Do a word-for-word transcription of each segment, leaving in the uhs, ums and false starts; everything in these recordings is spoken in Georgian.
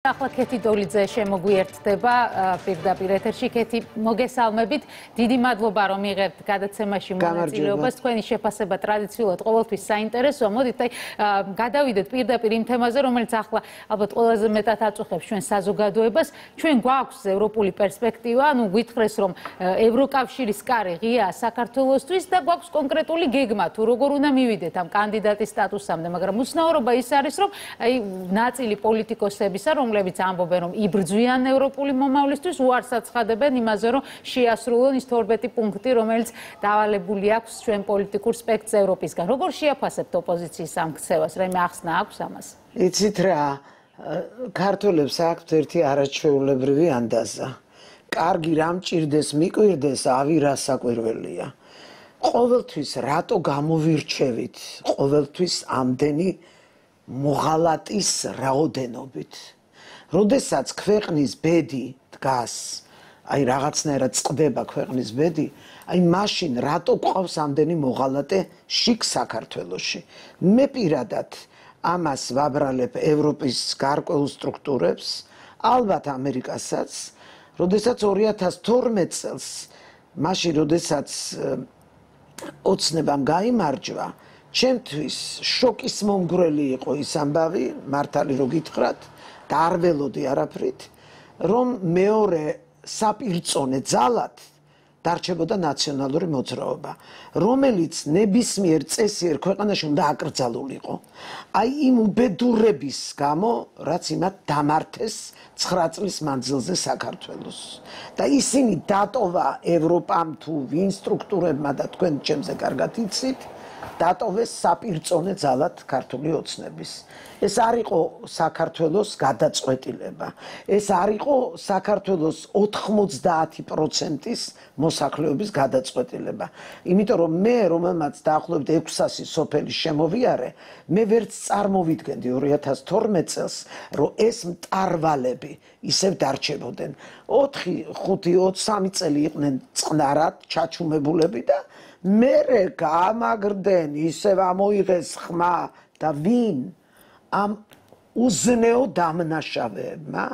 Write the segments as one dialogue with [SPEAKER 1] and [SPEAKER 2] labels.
[SPEAKER 1] ახლა ქეთი დოლიძე შემოგვიერთდება პირდაპირ ეთერში. ქეთი, მოგესალმებით. დიდი მადლობა რომ იღებთ გადაცემაში მონაწილეობას. თქვენი შეფასება ტრადიციულად ყოველთვის საინტერესოა. მოდით აი გადავიდეთ პირდაპირ იმ თემაზე, რომელიც ახლა ალბათ ყველაზე მეტად აწუხებს ჩვენ საზოგადოებას. ჩვენ გვაქვს ევროპული პერსპექტივა, ანუ გითხრეს რომ ევროკავშირის კარი ღია საქართველოსთვის და გვაქვს კონკრეტული გეგმა თუ როგორ უნდა მივიდეთ ამ კანდიდატის სტატუსამდე, მაგრამ უცნაურობა ის არის რომ აი ნაწილი პოლიტიკოსებისა რომ რომლებიც ამბობენ რომ იბრძვიან ევროპული მომავლისთვის, უარს აცხადებენ იმაზე რომ შეასრულონ ის თორმეტი პუნქტი, რომელიც დავალებული აქვს ჩვენ პოლიტიკურ სპექტრს ევროპისგან. როგორ შეაფასებთ ოპოზიციის ამ ქცევას? რაიმე ახსნა აქვს ამას?
[SPEAKER 2] იცით რა, ქართველებს აქვთ ერთი არაჩვეულებრივი ანდაზა. კარგი რამ ჭირდეს, მიკვირდეს, ავი რა საკვირველია. ყოველთვის რატო გამოვირჩევით? ყოველთვის ამდენი მოღალატის რაოდენობით. როდესაც ქვეყნის ბედი დგას, აი რაღაცნაირად წყდება ქვეყნის ბედი, აი მაშინ რატო გვყავს ამდენი მოღალატე შიგ საქართველოში? მე პირადად ამას ვაბრალებ ევროპის გარკვეულ სტრუქტურებს, ალბათ ამერიკასაც, როდესაც ორი ათას თორმეტ წელს, მაშინ როდესაც ოცნებამ გაიმარჯვა, ჩემთვის შოკის მომგვრელი იყო ის ამბავი, მართალი რო გითხრათ, და არ ველოდი არაფრით, რომ მეორე საპირწონე ძალად დარჩებოდა ნაციონალური მოძრაობა, რომელიც ნებისმიერ წესიერ ქვეყანაში უნდა აკრძალულიყო. აი იმ უბედურების გამო, რაც იმათ დამართეს ცხრა წლის მანძილზე საქართველოს. და ისინი დატოვა ევროპამ თუ ვინ სტრუქტურებმა და თქვენ ჩემზე კარგად იცით, დატოვეს საპირწონე ძალად ქართული ოცნების. ეს არ იყო საქართველოს გადაწყვეტილება. ეს არ იყო საქართველოს ოთხმოცდაათი პროცენტის მოსახლეობის გადაწყვეტილება. იმიტომ რომ მე, რომელმაც დაახლოებით ექვსასი სოფელი შემოვიარე, მე ვერც წარმოვიდგენდი ორი ათას თორმეტ წელს, რომ ეს მტარვალები ისევ დარჩებოდნენ. ოთხი, ხუთი, ოცი წელი იყვნენ წყნარად ჩაჩუმებულები და მერე გამაგრდნენ, ისევ ამოიღეს ხმა და ვინ? ამ უზნეო დამნაშავეებმა?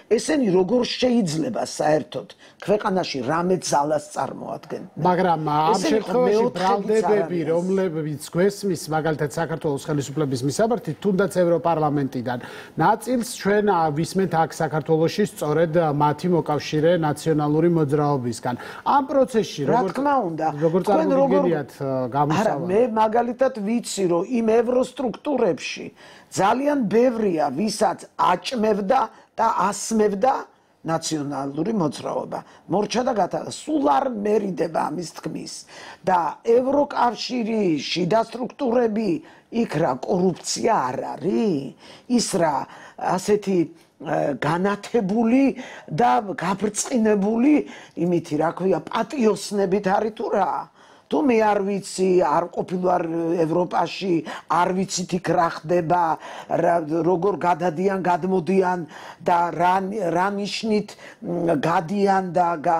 [SPEAKER 2] ესენი როგორ შეიძლება საერთოდ ქვეყანაში რამე ძალას წარმოადგენდნენ?
[SPEAKER 3] მაგრამ ამ შემთხვევაში ბრალდებები, რომლებიც გვესმის, მაგალითად საქართველოს ხელისუფლების მისამართი, თუნდაც ევროპარლამენტიდან, ნაწილს ჩვენ ვისმენთ აქ საქართველოში სწორედ მათი მოკავშირე ნაციონალური მოძრაობისგან. ამ პროცესში
[SPEAKER 2] როგორ თქმა უნდა,
[SPEAKER 3] როგორ წარმოგიდგენიათ გამოსავალს?
[SPEAKER 2] არა, მე მაგალითად ვიცი, რომ იმ ევროსტრუქტურებში ძალიან ბევრია, ვისაც აჭმევდა და ასმევდა ნაციონალური მოძრაობა. მორჩა და გათავა, სულ არ მერიდება ამის თქმის. და ევროკავშირი, შიდა სტრუქტურები, იქ რა კორუფცია არ არის? ის რა ასეთი განათებული და გაბრწყინებული, იმითი რა ქვია, პატიოსნებით არის თუ რა? თუ მე არ ვიცი, არ ყოფილვარ ევროპაში, არ ვიცით იქ რა ხდება, როგორ გადადიან, გადმოდიან და რა ნიშნით გადიან და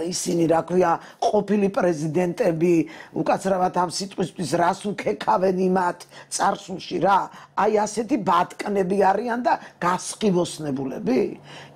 [SPEAKER 2] ისინი რა ქვია, ყოფილი პრეზიდენტები, უკაცრავად ამ სიტყვისთვის რას უქექავენ იმათ წარსულში რა? აი ასეთი ბატკნები არიან და გასყიდოსნებულები.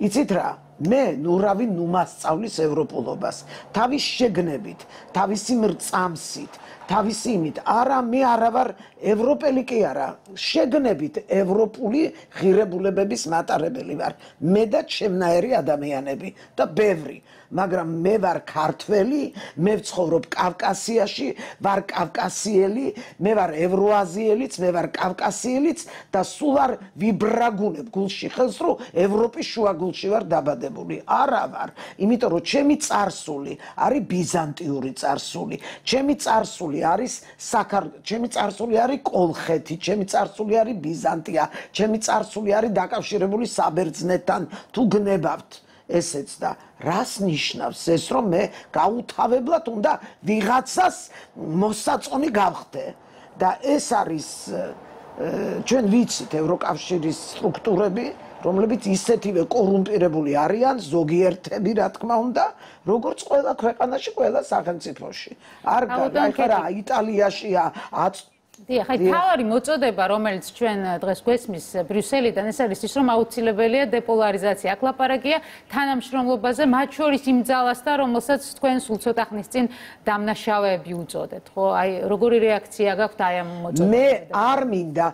[SPEAKER 2] იცით რა? მე ნურავი ნუ მასწავლის ევროპულობას, თავის შეგნებით, თავისი მრწამსით, თავისი იმით, არა მე არა ვარ ევროპელი კი არა, შეგნებით ევროპული ღირებულებების მატარებელი ვარ, მე და ჩემნაირი ადამიანები და ბევრი, მაგრამ მე ვარ ქართველი, მე ვცხოვრობ კავკასიაში, ვარ კავკასიელი, მე ვარ ევროაზიელიც, მე ვარ კავკასიელიც და სულ არ ვიბრაგუნებ გულში ხელს, რომ ევროპის შუაგულში ვარ დაბადებული. არა ვარ, იმიტომ რომ ჩემი წარსული არის ბიზანტიური წარსული, ჩემი წარსული არის საქართვ, ჩემი წარსული არის კოლხეთი, ჩემი წარსული არის ბიზანტია, ჩემი წარსული არის დაკავშირებული საბერძნეთთან, თუ გნებავთ ესეც და რას ნიშნავს ეს, რომ მე გაუთავებლად უნდა ვიღაცას მოსაწონი გავხდე და ეს არის ჩვენ ვიცით ევროკავშირის სტრუქტურები, რომლებიც ისეთივე კორუმპირებული არიან, ზოგიერთები რა თქმა უნდა, როგორც ყველა ქვეყანაში, ყველა სახელმწიფოში. არ გაიგე, რა იტალიაშია
[SPEAKER 1] დიახ, აი თავარი მოწოდება, რომელიც ჩვენ დღეს გვესმის ბრიუსელიდან, ეს არის ის, რომ აუცილებელია დეპოლარიზაცია. აქ ლაპარაკია თანამშრომლობაზე, მათ შორის იმ ძალასთან, რომელსაც თქვენ სულ ცოტა ხნის წინ დამნაშავეები უწოდეთ, ხო? აი როგორი რეაქცია გაქვთ აი ამ მოწოდებაზე?
[SPEAKER 2] მე არ მინდა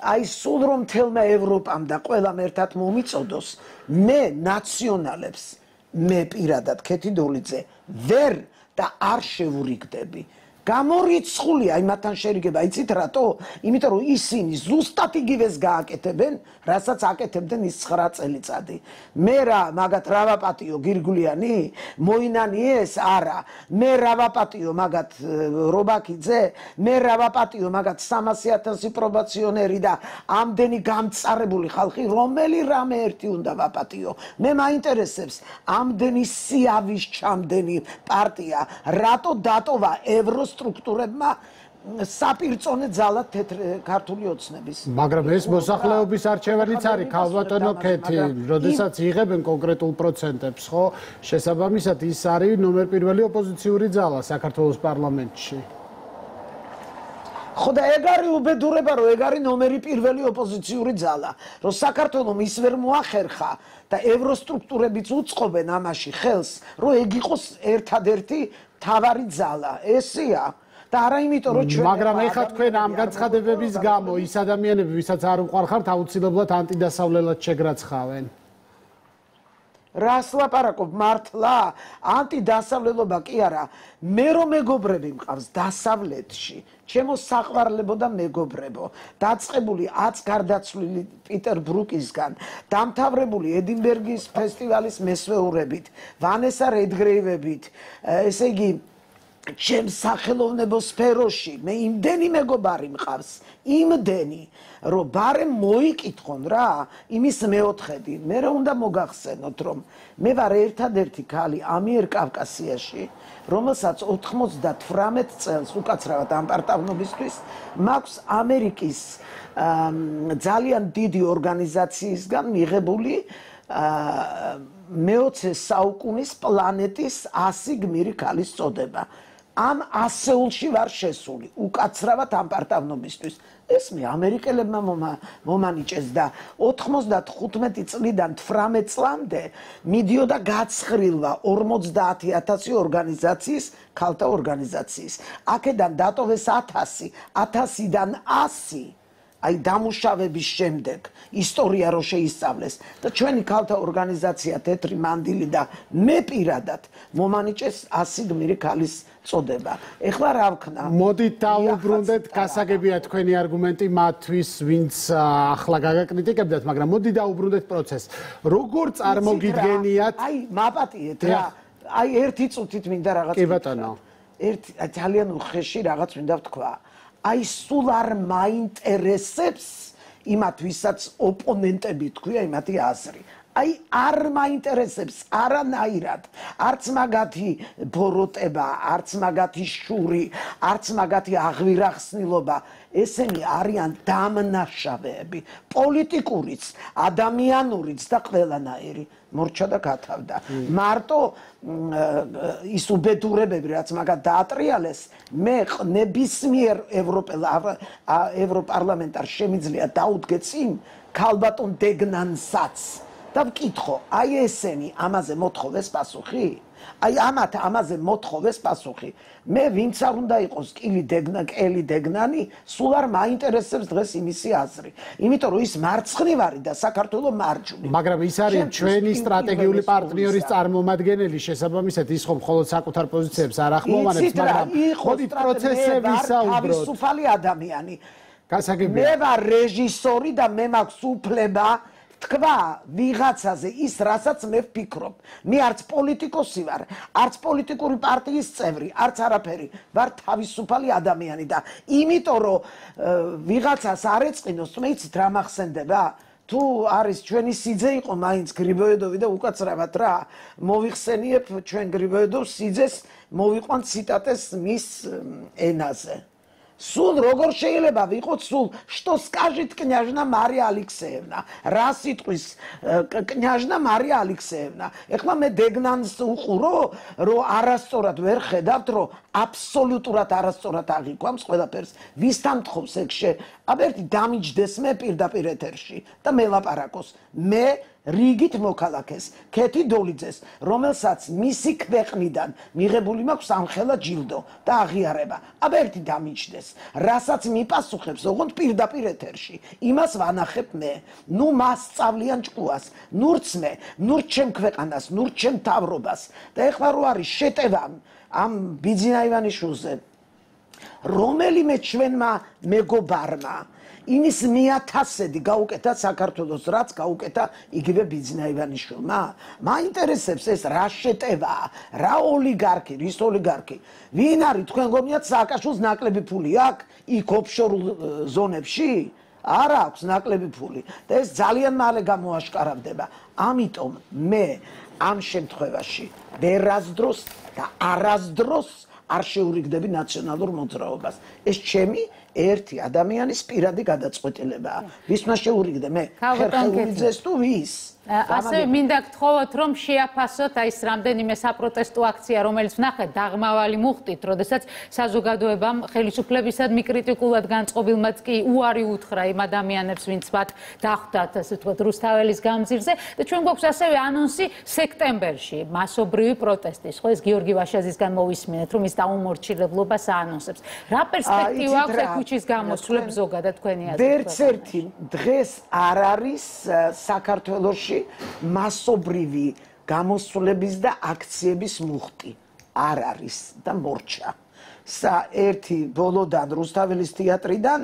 [SPEAKER 2] აი სულ რომ თელმა ევროპამ და ყველამ ერთად მომიწოდოს, მე ნაციონალებს, მე პირადად ქეთი დოლიძე ვერ და არ შევურიგდები. გამორიცხულია იმათან შერიგება, იცით რატო? იმიტომ რომ ისინი ზუსტად იგივეს გააკეთებენ, რასაც აკეთებდნენ ის ცხრა წელიწადი. მე რა მაგათ რა ვაპატიო გირგვლიანი? მოინანი ეს? არა. მე რა ვაპატიო მაგათ რობაქიძე? მე რა ვაპატიო მაგათ სამასი ათასი პრობაციონერი და ამდენი გამწარებული ხალხი, რომელი რამე ერთი უნდა ვაპატიო. მე მაინტერესებს ამდენი სიავის ჩამდენი პარტია, რატო დატოვა ევროს სტრუქტურებმა საპირწონე ძალა თეთრ ქართული ოცნების.
[SPEAKER 3] მაგრამ ეს მოსახლეობის არჩევანიც არის, ქალბატონო ქეთი, როდესაც იღებენ კონკრეტულ პროცენტებს, ხო? შესაბამისად ის არის ნომერ პირველი ოპოზიციური ძალა საქართველოს პარლამენტში.
[SPEAKER 2] ხო და ეგ არის უბედურება, რომ ეგ არის ნომერი პირველი ოპოზიციური ძალა, რომ საქართველოს ის ვერ მოახერხა და ევროსტრუქტურებიც უწყობენ ამაში ხელს, რომ ეგ იყოს ერთადერთი თავარი ძალა, ესია და არა იმიტომ რომ ჩვენ
[SPEAKER 3] მაგრამ ეხლა თქვენ ამ განცხადებების გამო ის ადამიანები, ვისაც არ უყვარხართ, აუცილებლად ანტიდასავლელად შეგრაცხავენ.
[SPEAKER 2] რას ლაპარაკობ მართლა? ანტიდასავლელობა კი არა, მე რომ მეგობრები მყავს დასავლეთში, ჩემო საყვარლებო და მეგობრებო, დაწყებული ათს გარდაცვლილი პიტერ ბრუკისგან, დამთავრებული ედინბერგის ფესტივალის მესვეურებით, ვანესა რედგრეივებით, ესე იგი ჩემ სახელოვნებო სფეროში მე იმდენი მეგობარი მყავს, იმდენი, რომ ბარემ მოიკითხონ რა, იმის მეოთხედი, მე რა უნდა მოგახსენოთ, რომ მე ვარ ერთადერთი ქალი ამიერკავკასიაში, რომელსაც ოთხმოცდათვრამეტ წელს უკაცრავად ამ პარტავნობისთვის მაქვს ამერიკის ძალიან დიდი ორგანიზაციისგან მიღებული მეოცე საუკუნის პლანეტის ასი გმირი ქალის წოდება. ამ ასეულში ვარ შესული, უკაცრავად ამ პარტავნობისთვის. ეს მე ამერიკელებმა მომანიჭეს და ოთხმოცდახუთმეტი წლიდან თვრამეტ წლამდე მიდიოდა გაცხრილვა ორმოცდაათი ათასი ორგანიზაციის, ქალთა ორგანიზაციის. აქედან დატოვეს ათასი, ათასიდან ასი. აი დამუშავების შემდეგ ისტორია რო შეისწავლეს და ჩვენი ქალთა ორგანიზაცია თეთრი მანდილი და მე პირადად მომანიჭეს ასი გმირი ქალის წოდება. ეხლა რა ვქნა?
[SPEAKER 3] მოდით დავუბრუნდეთ, გასაგებია თქვენი არგუმენტი მათთვის, ვინც ახლა გაგაკრიტიკებდათ, მაგრამ მოდით დავუბრუნდეთ პროცესს. როგორ წარმოგიდგენიათ?
[SPEAKER 2] აი მაპატიეთ რა. აი ერთი წუთით მინდა რაღაც.
[SPEAKER 3] კი ბატონო.
[SPEAKER 2] ერთი ძალიან უხეში რაღაც მინდა ვთქვა. აი სულ არ მაინტერესებს იმათ ვისაც ოპონენტები თქვია იმათი აზრი. აი არ მაინტერესებს არანაირად, არც მაგათი ბოროტება, არც მაგათი შური, არც მაგათი აღვირახსნილობა. ესენი არიან დამნაშავეები, პოლიტიკურიც, ადამიანურიც და ყველანაირი. მორჩა და გათავდა. მარტო ის უბედურებები, რაც მაგათ დაატრიალეს, მე ნებისმიერ ევროპარლამენტარს შემიძლია დაუდგე წინ ქალბატონ დეგნანსაც და ვკითხო, აი ესენი ამაზე მოთხოვეს პასუხი? აი ამათ ამაზე მოთხოვეს პასუხი. მე ვინც არ უნდა იყოს კილი დეგნა, კელი დეგნანი, სულ არ მაინტერესებს დღეს იმისი აზრი. იმიტომ რომ ის მარცხნივარი და საქართველოს მარჯვნივ.
[SPEAKER 3] მაგრამ ის არის ჩვენი სტრატეგიული პარტნიორის წარმომადგენელი, შესაბამისად ის ხომ მხოლოდ საკუთარ პოზიციებს არ ახმოვანებს, მაგრამ ხოდით პროცესზე ვისაუბროთ.
[SPEAKER 2] თავისუფალი ადამიანი.
[SPEAKER 3] გასაგებია.
[SPEAKER 2] მე ვარ რეჟისორი და მე მაქვს უფლება თქვა ვიღაცაზე ის, რასაც მე ვფიქრობ. მე არც პოლიტიკოსი ვარ, არც პოლიტიკური პარტიის წევრი, არც არაფერი. ვარ თავისუფალი ადამიანი და იმიტომ რომ ვიღაცას არ ეწყინოს, მე იცით რა მახსენდება? თუ არის ჩვენი სიძე იყო მაინც გრიბოედოვი და უკაცრავად რა, მოვიხსენიებ ჩვენ გრიბოედოვს სიძეს, მოვიყვან ციტატეს მის ენაზე. სულ როგორ შეიძლება ვიყოთ სულ что скажет княжна Мария Алексеевна რა სიტყვის княжна Мария Алексеевна ეხლა მე დეგნანს უყურო რომ არასწორად ვერ ხედავთ რომ აბსოლუტურად არასწორად აღიქვამს ყველაფერს ვისთან თხოვს ეგ აბერტი დამიჯდეს მე პირდაპირ ეთერში და მელაპარაკოს მე რიგით მოქალაქეს ქეთი დოლიძეს რომელსაც მისი ქვეყნიდან მიღებული მაქვს ამხელა ჯილდო და აღიარება აბერტი დამიჯდეს რასაც მიპასუხებს ოღონდ პირდაპირ ეთერში იმას ვანახებ მე ნუ მას სწავლიან ჭკუას ნურც მე ნურც ჩემ ქვეყანას ნურც ჩემ თავრობას და ეხლა რო არის შეტევა ამ ბიძინა ივანიშვილზე რომელიმე ჩვენმა მეგობარმა იმის მიათასედი გაუკეთა საქართველოს რაც გაუკეთა იგივე ბიძინა ივანიშვილმა მაინტერესებს ეს რა შეტევაა რა ოლიგარქი რის ოლიგარქი ვინ არის თქვენ გონიათ სააკაშვილს ნაკლები ფული აქვს იქ ოფშორულ ზონებში არ აქვს ნაკლები ფული და ეს ძალიან მალე გამოაშკარავდება ამიტომ მე ამ შემთხვევაში ვერასდროს და არასდროს არ შეურიგდები ნაციონალურ მოძრაობას ეს ჩემი ერთი ადამიანის პირადი გადაწყვეტილებაა ვის მას შეურიგდე მე ხერხეულიძეს თუ ვის
[SPEAKER 1] ასევე მინდა გთხოვოთ რომ შეაფასოთ აი ეს რამდენიმე საპროტესტო აქცია რომელიც ვნახეთ დაღმავალი მუხტით როდესაც საზოგადოებამ ხელისუფლებისად მიკრიტიკულად განწყობილმაც კი უარი უთხრა იმ ადამიანებს ვინც მათ დახვდათ ასე ვთქვათ რუსთაველის გამზირზე და ჩვენ გვაქვს ასევე ანონსი სექტემბერში მასობრივი პროტესტის ხო ეს გიორგი ვაშაძისგან მოვისმინეთ რომ ის დაუმორჩილებლობას აანონსებს რა პერსპექტივა აქვს ქუჩის გამოსვლებს ზოგადად თქვენი აზრით
[SPEAKER 2] ვერც ერთი დღეს არ არის საქართველოში მასობრივი გამოსვლების და აქციების მუხტი არ არის და მორჩა. სა ერთი ბოლოდან რუსთაველის თეატრიდან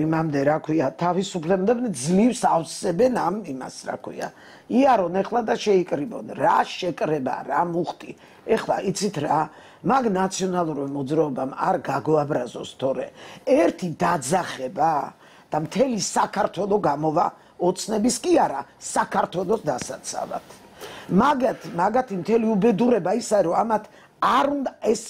[SPEAKER 2] იმამდე რა ქვია თავისუფლებდნენ ძლივს ავსებენ ამ იმას რა ქვია. იარონ ეხლა და შეიკრიბონ რა შეკრება რა მუხტი. ეხლა იცით რა მაგ ნაციონალურ მოძრაობამ არ გაგოაბრაზოს თორე ერთი დაძახება და მთელი საქართველო გამოვა ოცნების კი არა საქართველოს დასაცავად მაგათ მაგათი მთელი უბედურება ისა რომ ამათ არ უნდა ეს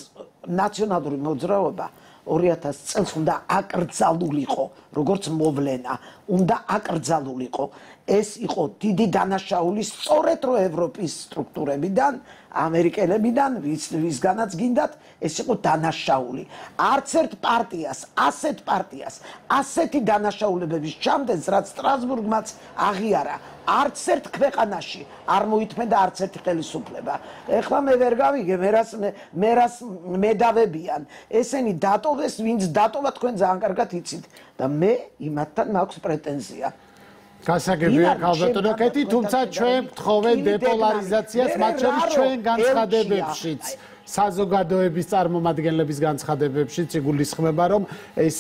[SPEAKER 2] ნაციონალური მოძრაობა ორი ათას წელს უნდა აკრძალულიყო როგორც მოვლენა უნდა აკრძალულიყო ეს იყო დიდი დანაშაული სწორედ რო ევროპის სტრუქტურებიდან ამერიკელებიდან ვისგანაც გინდათ ეს იყო დანაშაული არც ერთ პარტიას ასეთ პარტიას ასეთი დანაშაულებების ჩამდენს რაც სტრასბურგმაც აღიარა არც ერთ ქვეყანაში არ მოითმენდა არც ერთი ხელისუფლება ეხლა მე ვერ გავიგე მერას მერას მედავებიან ესენი დატოვეს ვინც დატოვა თქვენ ძალიან კარგად იცით და მე იმათთან მაქვს პრეტენზია
[SPEAKER 3] გასაგებია ქალბატონო კეთი თუმცა ჩვენ გთხოვენ დეპოლარიზაციას მათ შორის ჩვენ განცხადებებშიც საზოგადოების წარმომადგენლების განცხადებებშიც იგულისხმება რომ ეს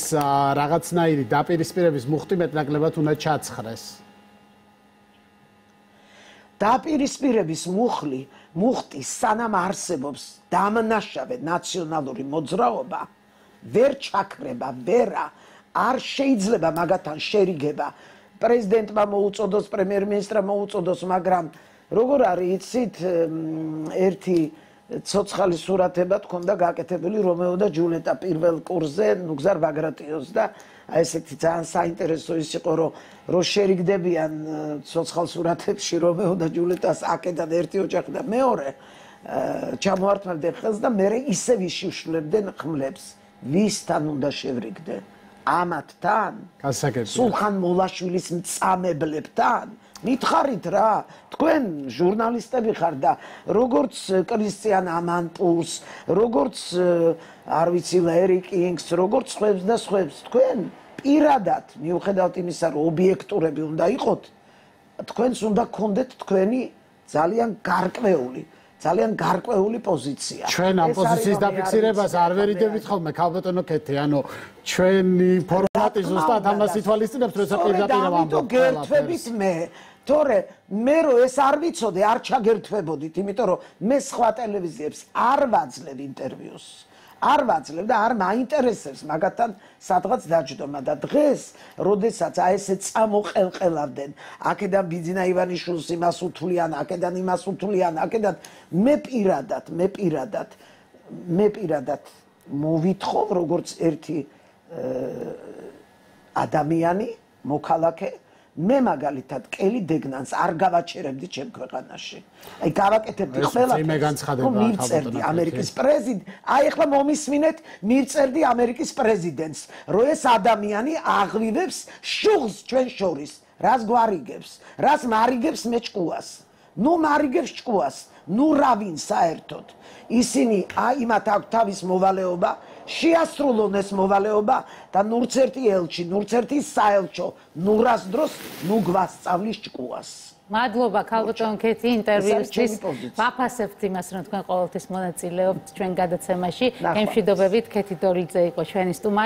[SPEAKER 3] რაღაცნაირი დაპირისპირების მუხტი მეტნაკლებად უნდა ჩაცხრეს
[SPEAKER 2] დაპირისპირების მუხლი მუხტი სანამ არსებობს დამნაშავე ნაციონალური მოძრაობა ვერ ჩაქრება ვერა არ შეიძლება მაგათთან შერიგება პრეზიდენტმა მოუწოდოს პრემიერ-მინისტრმა მოუწოდოს მაგრამ როგორ არის იცით ერთი ცოცხალი სურათება თქონდა გაკეთებული რომეო და ჯულეტა პირველ კურსზე ნუგზარ ბაგრატიოს და ესეთი ძალიან საინტერესო ის იყო რომ რო შერიგდებიან ცოცხალ სურათებში რომეო და ჯულეტას აკედან ერთი ოჯახი და მეორე ჩამოართმევდნენ ხელს და მე ისევ იშუშლებდნენ ხმლებს ვისთან უნდა შევრიგდე ამათთან სულხან მოლაშვილის მწამებლებთან მითხარით რა თქვენ ჟურნალისტები ხარ და როგორც კრისტიან ამანპულს როგორც არ ვიცი ლერი კინგს როგორც ხვებს და ხვებს თქვენ პირადად მიუხედავად იმისა რომ ობიექტურები უნდა იყოთ თქვენს უნდა გქონდეთ თქვენი ძალიან გარკვეული ძალიან გარკვეული პოზიცია.
[SPEAKER 3] ჩვენ ამ პოზიციის დაფიქსირებას არ ვერიდებით ხოლმე ქალბატონო კეთი, ანუ ჩვენი ფორმატი ზუსტად ამას ითვალისწინებს, როცა პირდაპირ ამბობთ.
[SPEAKER 2] გერთვებით მე, თორე მე რო ეს არ ვიცოდე, არ ჩაგერთვებოდით, იმიტომ რომ მე სხვა ტელევიზიებს არ ვაძლევ ინტერვიუს. არ ვაძლევ და არ მაინტერესებს მაგათთან სადღაც დაჯდომა და დღეს, როდესაც აი ესე წამოყელყელავდნენ, აქედან ბიძინა ივანიშვილს იმას უთვლიან, აქედან იმას უთვლიან, აქედან მე პირადად, მე პირადად, მე პირადად მოვითხოვ როგორც ერთი ადამიანი, მოქალაქე, მე მაგალითად კელი დეგნანს არ გავაჩერებდი ჩემ ქვეყანაში. აი გავაკეთებდი ყველაფერს. მივწერდი ამერიკის პრეზიდენტს, აი ახლა მომისმინეთ, მივწერდი ამერიკის პრეზიდენტს, რომ ეს ადამიანი აღვივებს შუღს ჩვენ შორის. რას გვარიგებს? რას მარიგებს მე ჭკუას? ნუ მარიგებს ჭკუას, ნუ რავინ საერთოდ. ისინი აიმათ აქვს თავის მოვალეობა, შეასრულონ ეს მოვალეობა და ნურც ერთი ელჩი, ნურც ერთი საელჩო, ნუ რას დროს, ნუ გვასწავლის ჭკუას.
[SPEAKER 1] მადლობა ქალბატონ ქეთი ინტერვიუსთვის. ვაფასებთ იმას, რომ თქვენ ყოველთვის მონაწილეობთ ჩვენ გადაცემაში. ემშვიდობებით ქეთი დორიძე იყო ჩვენი სტუმარი.